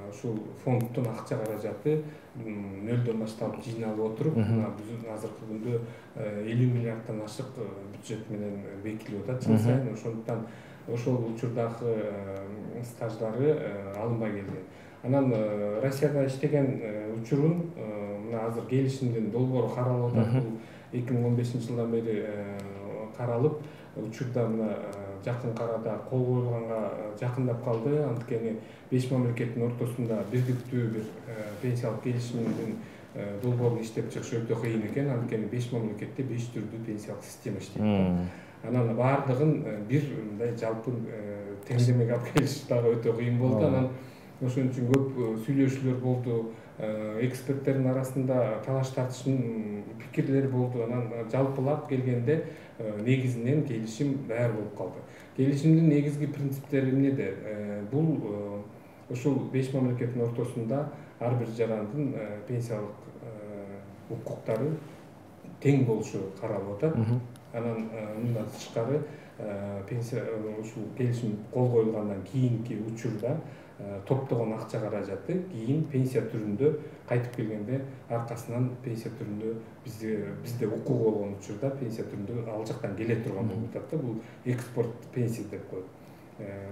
ушул фонддун акча каражаты нөлдөн баштап жыйналып отуруп, мына биздин азыркы күндө 50 миллиарддан ашык бюджет менен бекитилип атат жыл сайын. Ошондуктан ошол учурдагы стаждары алынбай келген. Анан Россияда иштеген учурун мына азыр келишимдин долбоору каралып атат. Бул 2015-жылдан бери каралып, учурда мына жакын арада кол коюлганга жакындап калды. Анткени 5 мамлекеттин ортосунда бирдиктүү бир пенсиялык келишимдин долбоорун иштеп чыгыш өтө кыйын экен. Анткени 5 мамлекетте 5 түрдүү пенсиялык система иштейт. Анан баардыгын бир мындай жалпы теңдемеге алып келиш дагы өтө кыйын болду. Анан ошон үчүн көп сүйлөшүүлөр болду. Эксперттердин арасында талаш тартыштын пикирлери болду. Анан жалпылап келгенде негизинен келишим даяр болуп калды. Келишимдин негизги принциптери эмнеде? Бул ушул 5 мамлекеттин ортосунда ар бир жарандын пенсиялык укуктары тең болушу каралып атат. Анан мындан тышкары пенсия ушул келишим кол коюлгандан кийинки учурда топтогон акча каражаты кийин пенсия түрүндө кайтып келгенде аркасынан пенсия түрүндө бизде укугу болгон учурда пенсия түрүндө ал жактан келе турган болуп атат да. Бул экспорт пенсия деп коет.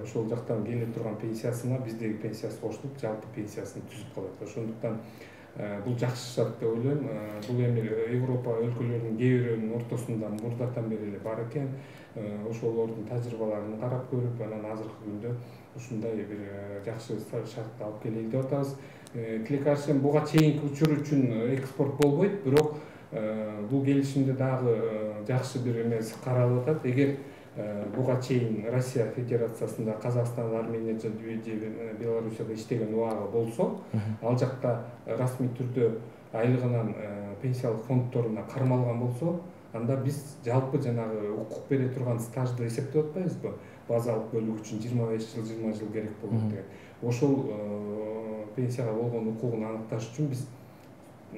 Ошол жактан келе турган пенсиясына биздеги пенсиясы кошулуп жалпы пенсиясын түзүп калат. Ошондуктан бул жакшы шарт деп ойлойм. Бул эми Европа өлкөлөрүнүн кээ бирөөнүн ортосунда мурдатан бери эле бар экен. Ошолордун тажрыйбаларын карап көрүп, анан азыркы күндө ушундай бир жакшы шартты алып келели деп атабыз. Тилекке каршы буга чейинки учур үчүн экспорт болбойт, бирок бул келишимде дагы жакшы бир эмеси каралып атат. Эгер буга чейин Россия Федерациясында, Казакстан, Армения же Белоруссияда иштеген убагы болсо, ал жакта расмий түрдө айлыгынан пенсиялык фонддоруна кармалган болсо, анда биз жалпы жанагы укук бере турган стажды эсептеп атпайбызбы? базалык бөлүк үчүн 25 жыл 20 жыл керек болот деген. Ошол пенсияга болгон укугун аныкташ үчүн биз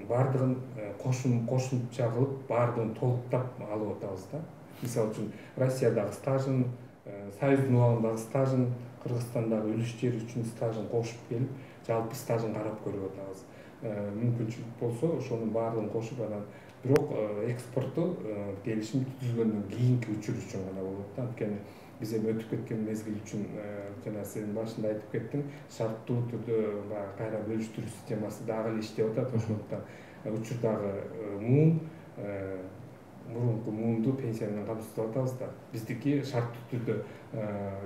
бардыгын кошумча кылып бардыгын толуктап алып атабыз да. Мисалы үчүн Россиядагы стажын, Союздун убагындагы стажын, Кыргызстандагы үлүш жери үчүн стажын кошуп келип, жалпы стажын карап көрүп атабыз. Мүмкүнчүлүк болсо ошонун баардыгын кошуп анан бирок экспортту келишим түзүлгөндөн кийинки учур үчүн гана болот да. Анткени биз эми өтүп кеткен мезгил үчүн жана сен башында айтып кеттиң, шарттуу түрдө баягы кайра бөлүштүрүү системасы дагы эле иштеп атат. Ошондуктан учурдагы мурунку муунду пенсия менен камсыздап атабыз да. Биздики шарттуу түрдө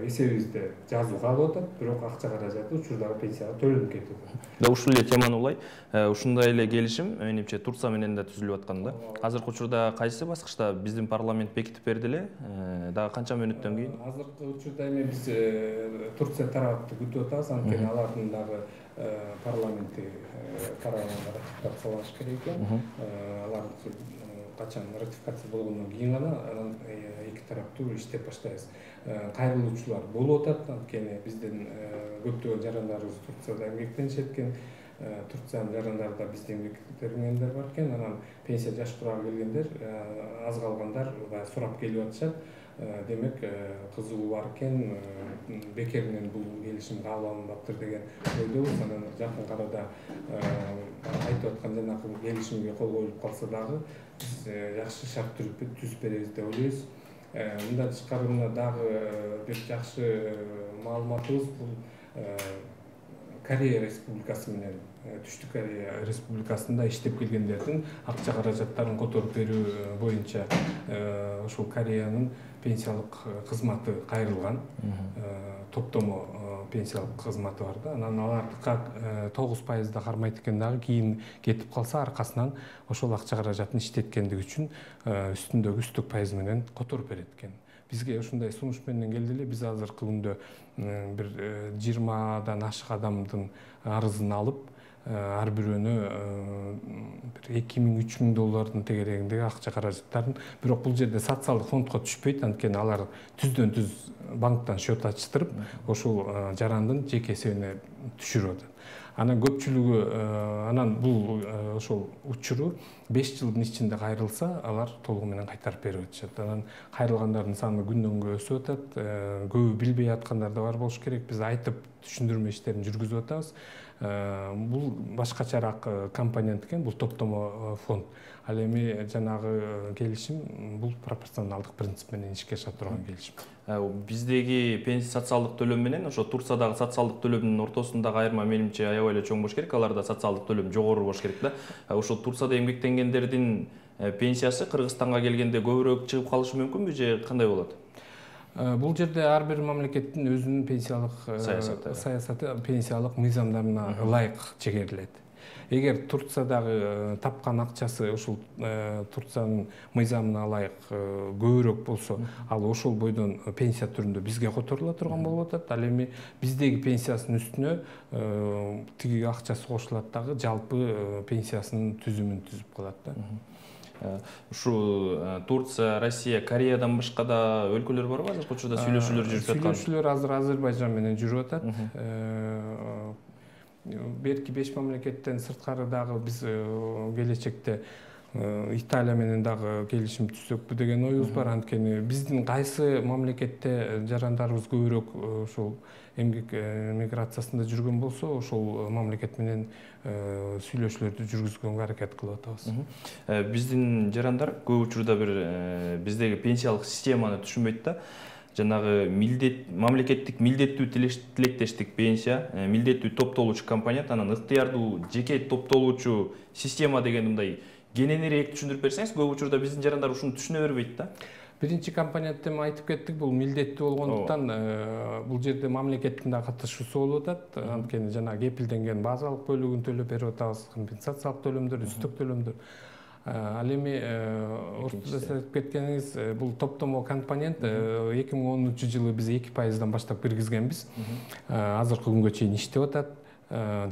эсебибизде жазууга алып атат, бирок акча каражаты учурдагы пенсияга төлөнүп кетип атат. Да ушул эле теманы улай, ушундай эле келишим менимче Турция менен да түзүлүп аткан да. Азыркы учурда кайсы баскычта биздин парламент бекитип берди эле? Дагы канча мүнөттөн кийин? Азыркы учурда эми биз Турция тарапты күтүп атабыз, анткени алардын дагы парламенти караганга ратификациялаш керек экен. Алар качан ратификация болгондон кийин гана анан эки тараптуу иштеп баштайбыз. Кайрылуучулар болуп атат, анткени биздин көптөгөн жарандарыбыз Турцияда эмгектенишет экен. Турциянын жарандарында бизде эмгектенгендер бар экен. Анан пенсия жаш турага келгендер, аз калгандар баягы сурап келип атышат. Демек кызыгуу бар экен, бекеринен бул келишим кабыл алынбаптыр деген ойдобуз. Анан жакын арада айтып аткан жанагы келишимге кол коюлуп калса дагы биз жакшы шарт түзүп беребиз деп ойлойбуз. Мындан тышкары мына дагы бир жакшы маалыматыбыз бул Корея Республикасы менен Түштүк Корея Республикасында иштеп келгендердин акча каражаттарын которуп берүү боюнча ошол Кореянын пенсиялык кызматы кайрылган. Топтомо пенсиялык кызматы бар да. Анан алардыкы 9% кармайт экен дагы, кийин кетип калса аркасынан ошол акча каражатын иштеткендиги үчүн үстүндөгү үстүк пайыз менен которуп берет экен. Бизге ушундай сунуш менен келди эле. Биз азыркы күндө бир 20дан ашык адамдын арызын алып, ар бирөөнө бир 2000–3000 доллардын тегерегиндеги акча каражаттарын, бирок бул жерде социалдык фондко түшпөйт, анткени алар түздөн түз банктан счет ачтырып, ошол жарандын жеке эсебине түшүрүп атат. Анан көпчүлүгү анан бул ошол учуру 5 жылдын ичинде кайрылса, алар толугу менен кайтарып берип атышат. Анан кайрылгандардын саны күндөн күнгө өсүп атат. Көбү билбей аткандар да бар болуш керек. Биз айтып түшүндүрмө иштерин жүргүзүп атабыз. Бул башкачараак компонент экен, бул топтомо фонд. Ал эми жанагы келишим бул пропорционалдык принцип менен ишке аша турган келишим. Биздеги пенсия социалдык төлөм менен ошо Турциядагы социалдык төлөмдүн ортосундагы айырма менимче аябай эле чоң болуш керек. Аларда социалдык төлөм жогору болуш керек да. Ошол Турцияда эмгектенгендердин пенсиясы Кыргызстанга келгенде көбүрөөк чыгып калышы мүмкүнбү же кандай болот? Бул жерде ар бир мамлекеттин өзүнүн пенсиялык саясаты, пенсиялык мыйзамдарына ылайык чегерилет. Эгер Турциядагы тапкан акчасы ошол Турциянын мыйзамына ылайык көбүрөөк болсо, ал ошол бойдон пенсия түрүндө бизге которула турган болуп атат. Ал эми биздеги пенсиясынын үстүнө тиги акчасы кошулат дагы, жалпы пенсиясынын түзүмүн түзүп калат да. Ушу Турция, Россия, Кореядан башка да өлкөлөр барбы? Азыркы учурда сүйлөшүүлөр жүрүп жаткан? Сүйлөшүүлөр азыр Азербайжан менен жүрүп атат. Берки 5 мамлекеттен сырткары дагы биз келечекте Италия менен дагы келишим түзсөкпү деген оюбуз бар. Анткени биздин кайсы мамлекетте жарандарыбыз көбүрөөк ошол эмгек миграциясында жүргөн болсо, ошол мамлекет менен сүйлөшүүлөрдү жүргүзгөнгө аракет кылып атабыз. Биздин жарандар көп учурда бир биздеги пенсиялык системаны түшүнбөйт да. Жанагы мамлекеттик милдеттүү тилектештик пенсия, милдеттүү топтолуучу компонент, анан ыктыярдуу жеке топтолуучу система деген мындай кененирээк түшүндүрүп берсеңиз, көп учурда биздин жарандар ушуну түшүнө бербейт да. Биринчи компонентти айтып кеттик, бул милдеттүү болгондуктан бул жерде мамлекеттин да катышуусу болуп атат. Анткени жана кепилденген базалык бөлүгүн төлөп берип атабыз, компенсациялык төлөмдөр, үстүк төлөмдөр. Ал эми ортодо айтып кеткениңиз, бул топтомо компонент 2010-жылы биз 2%дан баштап киргизгенбиз. Азыркы күнгө чейин иштеп атат.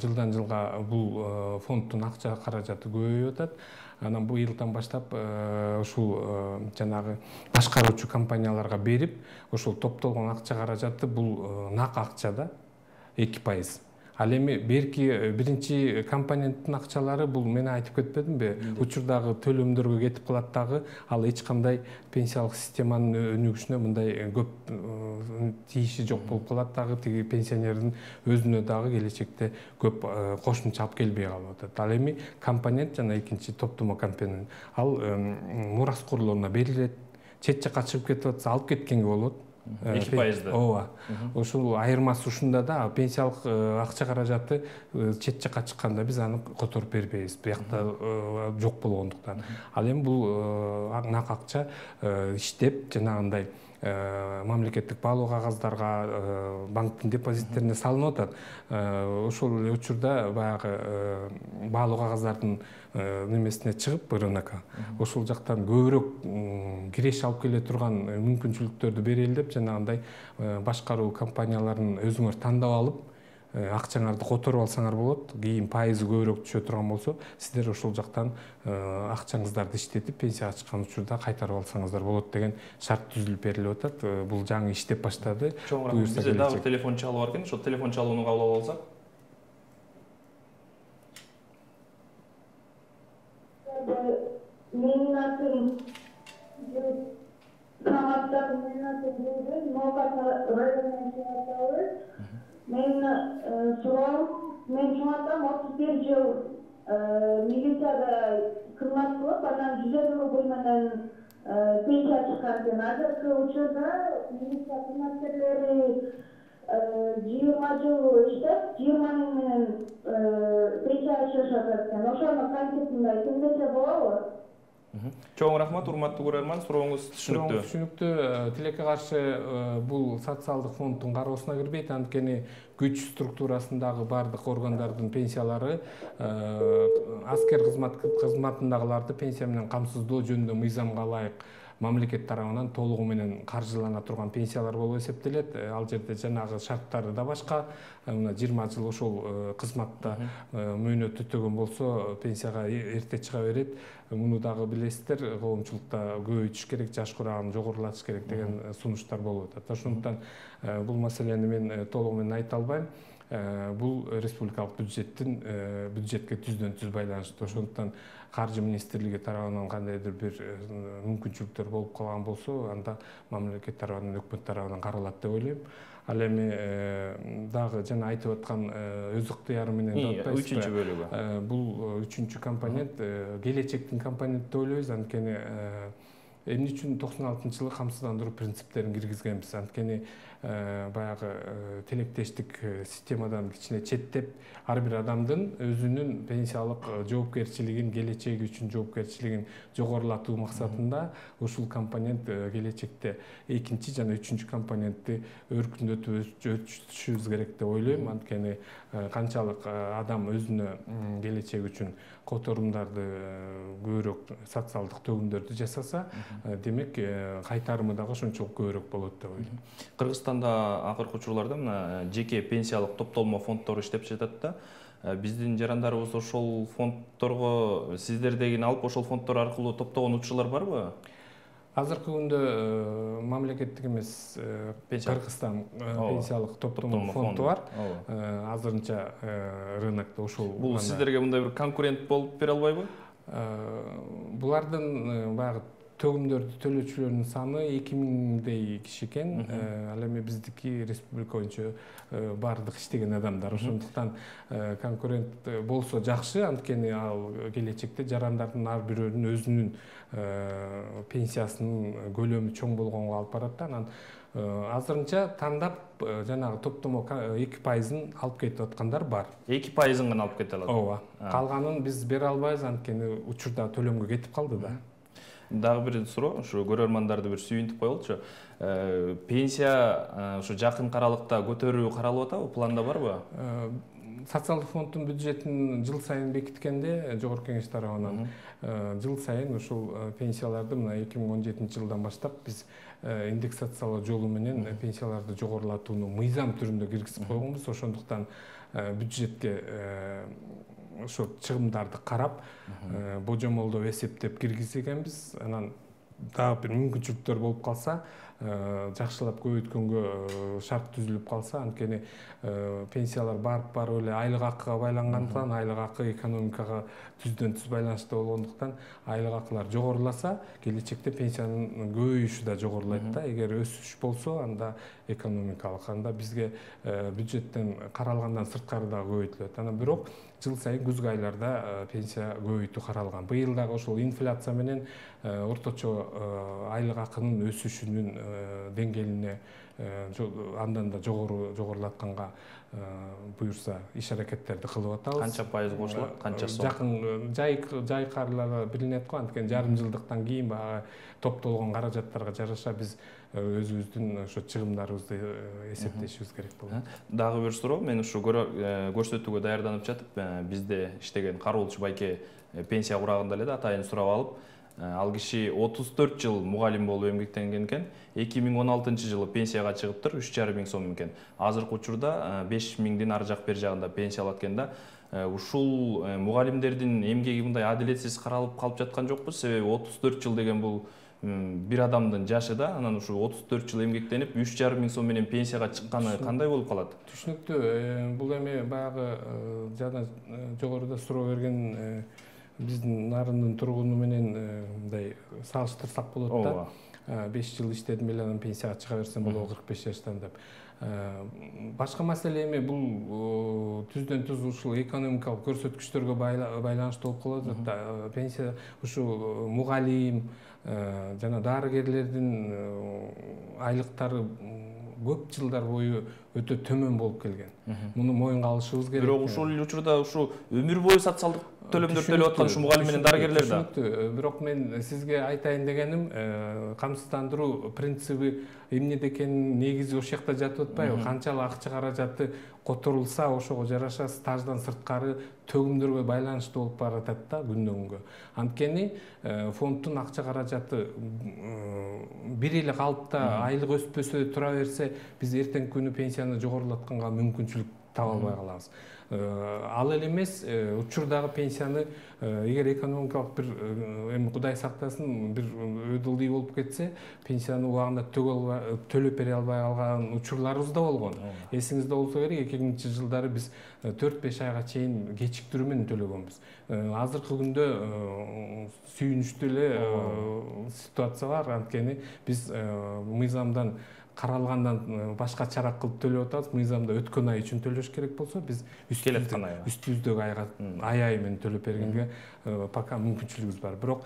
Жылдан жылга бул фонддун акча каражаты көбөйүп атат. Анан быйылдан баштап ушул жанагы башкаруучу компанияларга берип, ошол топтолгон акча каражаты бул нак акча да 2%. Ал эми берки биринчи компоненттин акчалары бул мен айтып кетпедимби? Учурдагы төлөмдөргө кетип калат дагы, ал эч кандай пенсиялык системанын өнүгүшүнө мындай көп тийиши жок болуп калат дагы, тиги пенсионердин өзүнө дагы келечекте көп кошумча алып келбей калып атат. Ал эми компонент жана экинчи топтомо компонент ал мураскорлоруна берилет. Чет жакка чыгып кетип атса алып кеткенге болот. 2%. Ооба. Ошол айырмасы ушунда да, пенсиялык акча каражаты чет жакка чыкканда биз аны которуп бербейбиз. Биякта жок болгондуктан. Ал эми бул нак акча иштеп жанагындай мамлекеттик баалуу кагаздарга, банктын депозиттерине салынып атат. Ошол эле учурда баягы баалуу кагаздардын немесине чыгып рынокко, ошол жактан көбүрөөк киреш алып келе турган мүмкүнчүлүктөрдү берели деп жанагындай башкаруу компанияларын өзүңөр тандап алып, акчаңарды которуп алсаңар болот. Кийин пайызы көбүрөөк түшө турган болсо, сиздер ошол жактан акчаңыздарды иштетип пенсияга чыккан учурда кайтарып алсаңыздар болот деген шарт түзүлүп берилип атат. Бул жаңы иштеп баштады. Бизде дагы телефон чалуу бар экен, ошол телефон чалууну кабыл алып алсак. Менин атым Саматтагы менин атым Гүлгүл, Ноокат районунан чыгабыз. Мен суроом, мен чоңатам 31 жыл милицияда кызмат кылып, анан 150 бөлмөнөн пенсия чыккан экен. Азыркы учурда милиция кызматкерлери 20 жыл иштеп, 20 менен пенсияга чыгышат экен. Ошону кантип мындай түзөтсө болобу? Чоң рахмат, урматтуу көрөрман, сурооңуз түшүнүктүү. Түшүнүктүү. Тилекке каршы бул социалдык фонддун кароосуна кирбейт, анткени күч структурасындагы бардык органдардын пенсиялары аскер кызматындагыларды пенсия менен камсыздоо жөнүндө мыйзамга ылайык мамлекет тарабынан толугу менен каржылана турган пенсиялар болуп эсептелет. Ал жерде жанагы шарттары да башка. Мына 20 жыл ошол кызматта мөөнөт өтөгөн болсо пенсияга эрте чыга берет. Муну дагы билесиздер, коомчулукта көбөйтүш керек, жаш курагын жогорулатыш керек деген сунуштар болуп атат. Ошондуктан бул маселени мен толугу менен айта албайм. Бул республикалык бюджетке түздөн түз байланыштуу. Ошондуктан каржы министрлиги тарабынан кандайдыр бир мүмкүнчүлүктөр болуп калган болсо, анда мамлекет тарабынан, өкмөт тарабынан каралат деп ойлойм. Ал эми дагы жана айтып аткан өз ыктыяры менен деп атпайсызбы? Үчүнчү бөлүгү. Бул үчүнчү компонент келечектин компоненти деп ойлойбуз. Анткени эмне үчүн 96-жылы камсыздандыруу принциптерин киргизгенбиз? Анткени баягы тилектештик системадан кичине четтеп, ар бир адамдын өзүнүн пенсиялык жоопкерчилигин, келечеги үчүн жоопкерчилигин жогорулатуу максатында ушул компонент келечекте экинчи жана үчүнчү компонентти өркүндөтүп өтүшүбүз керек деп ойлойм. Анткени канчалык адам өзүнө келечеги үчүн которумдарды көбүрөөк социалдык төгүмдөрдү жасаса, демек кайтарымы дагы ошончолук көбүрөөк болот деп ойлойм. Кыргызстанда акыркы учурларда мына жеке пенсиялык топтолмо фонддор иштеп жатат да. Биздин жарандарыбыз ошол фонддорго сиздердегини алып, ошол фонддор аркылуу топтогон учурлар барбы? Азыркы күндө мамлекеттик эмес Кыргызстан пенсиялык топтомо фонду бар. Азырынча рынокто ошол. Бул сиздерге мындай бир конкурент болуп бере албайбы? Булардын баягы төгүмдөрдү төлөөчүлөрдүн саны 2000дей киши экен. Ал эми биздики республика боюнча бардык иштеген адамдар. Ошондуктан конкурент болсо жакшы, анткени ал келечекте жарандардын ар бирөөнүн өзүнүн пенсиясынын көлөмү чоң болгонго алып барат да. Анан азырынча тандап жанагы топтомо 2%-ын алып кетип аткандар бар. 2%-ын гана алып кете алат. Ооба. Калганын биз бере албайбыз, анткени учурда төлөмгө кетип калды да. Дагы бир суроо, ушу көрөрмандарды бир сүйүнтүп коелучу. Пенсия ушу жакын аралыкта көтөрүү каралып атабы, планда барбы? социалдык фонддун бюджетин жыл сайын бекиткенде жогорку кеңеш тарабынан жыл сайын ушул пенсияларды мына 2017 жылдан баштап биз индексациялоо жолу менен пенсияларды жогорулатууну мыйзам түрүндө киргизип койгонбуз. Ошондуктан бюджетке ошо чыгымдарды карап божомолдоп эсептеп киргизгенбиз. Анан дагы бир мүмкүнчүлүктөр болуп калса, жакшылап көбөйткөнгө шарт түзүлүп калса, анткени пенсиялар барып эле айлык акыга байлангандыктан, айлык акы экономикага түздөн түз байланыштуу болгондуктан, айлык акылар жогоруласа, келечекте пенсиянын көбөйүшү да жогорулайт да. Эгер өсүш болсо, анда экономикалык, анда бизге бюджеттен каралгандан сырткары да көбөйтүлөт. Анан бирок жыл сайын күзгү айларда пенсия көбөйтүү каралган. Быйыл дагы ошол инфляция менен орточо айлык акынын өсүшүнүн деңгээлине андан да жогорулатканга буюрса иш аракеттерди кылып атабыз. Канча пайыз кошулат, канча сом? Жакын жайкарларга билинет го, анткени жарым жылдыктан кийин баягы топтолгон каражаттарга жараша биз өзүбүздүн ошо чыгымдарыбызды эсептешибиз керек болот. Дагы бир суроо, мен ушу көрсөтүүгө даярданып жатып, бизде иштеген кароолчу байке пенсия курагында эле да атайын сурап алып, ал киши 34 жыл мугалим болуп эмгектенген экен. 2016 жылы пенсияга чыгыптыр, 3,5 миң сом экен. Азыркы учурда 5 миңдин ары жак бер жагында пенсия алат экен да. Ушул мугалимдердин эмгеги мындай адилетсиз каралып калып жаткан жокпу? Себеби 34 жыл деген бул бир адамдын жашы да, анан ушу 34 жыл эмгектенип 3,5 миң сом менен пенсияга чыкканы кандай болуп калат? Түшүнүктүү. Бул эми баягы жана жогоруда суроо берген биздин нарындын тургуну менен мындай салыштырсак болот да. 5 жыл иштедим эле, анан пенсияга чыга берсем болобу 45 жаштан деп. Башка маселе эми бул түздөн түз ушул экономикалык көрсөткүчтөргө байланыштуу болуп калат. Пенсия ушу мугалим жана дарыгерлердин айлыктары көп жылдар бою өтө төмөн болуп келген. Муну моюнга алышыбыз керек. Бирок ушул учурда ушу өмүр бою социалдык төлөмдөр төлөп аткан ушу мугалим менен дарыгерлер да. Бирок мен сизге айтайын дегеним, камсыздандыруу принциби эмнеде экенин негизи ошол жакта жатып атпайбы? Канчалык акча каражаты которулса, ошого жараша стаждан сырткары төгүмдөргө байланыштуу болуп баратат да күндөн күнгө. Анткени фонддун акча каражаты бир эле калыпта айлык өспөсө тура берсе, биз эртеңки күнү пенсияны жогорулатканга мүмкүнчүлүк таба албай калабыз. Ал эле эмес, учурдагы пенсияны эгер экономикалык бир эми Кудай сактасын бир өдүлдүй болуп кетсе, пенсияны убагында төлөп бере албай калган учурларыбыз да болгон. Эсиңизде болсо керек, 2000-жылдары биз 4-5 айга чейин кечиктирүү менен төлөгөнбүз. Азыркы күндө сүйүнүчтүү эле ситуация бар, анткени биз мыйзамдан каралгандан башка чара кылып төлөп атабыз. Мыйзамда өткөн ай үчүн төлөш керек болсо, биз үстүбүздөгү айга ай менен төлөп бергенге пока мүмкүнчүлүгүбүз бар. Бирок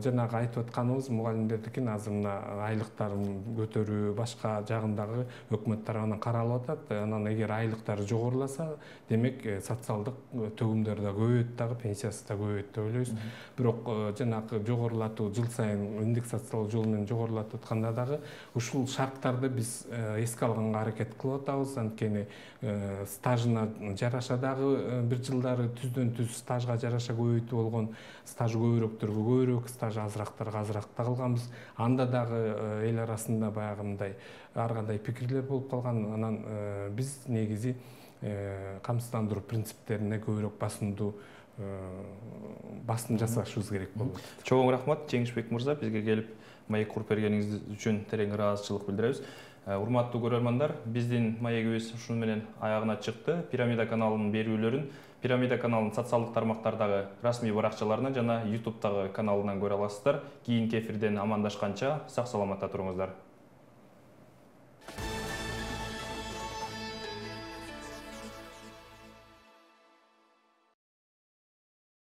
жанагы айтып атканыбыз мугалимдердикин азыр мына айлыктарын көтөрүү башка жагындагы өкмөт тарабынан каралып атат. Анан эгер айлыктары жогоруласа, демек социалдык төгүмдөр да көбөйөт дагы, пенсиясы да көбөйөт деп ойлойбуз. Бирок жанагы жогорулатуу жыл сайын индексациялоо жолу менен жогорулатып атканда дагы ушул шарттарды биз эске алганга аракет кылып атабыз. Анткени стажына жараша дагы бир жылдары түздөн түз стажга жараша көбөйтүү болгон, стажы көбүрөөктөргө көбүрөөк, стажы азырактарга азыраак да кылганбыз. Анда дагы эл арасында баягы мындай ар кандай пикирлер болуп калган. Анан биз негизи камсыздандыруу принциптерине көбүрөөк басым жасашыбыз керек болот. Чоң рахмат Жеңишбек мырза, бизге келип маек куруп бергениңиз үчүн терең ыраазычылык билдиребиз. Урматтуу көрөрмандар, биздин маегибиз ушуну менен аягына чыкты. Пирамида каналынын берүүлөрүн Пирамида каналынын социалдык тармактардагы расмий баракчаларынан жана YouTube'дагы каналынан көрө аласыздар. Кийинки эфирден амандашканча сак саламатта туруңуздар.